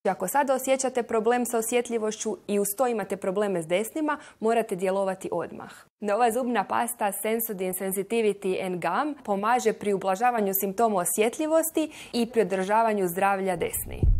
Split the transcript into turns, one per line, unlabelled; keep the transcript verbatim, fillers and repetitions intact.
Ako sada osjećate problem sa osjetljivošću i uz to imate probleme s desnima, morate djelovati odmah. Nova zubna pasta Sensodyne Sensitivity and Gum pomaže pri ublažavanju simptoma osjetljivosti i pri održavanju zdravlja desni.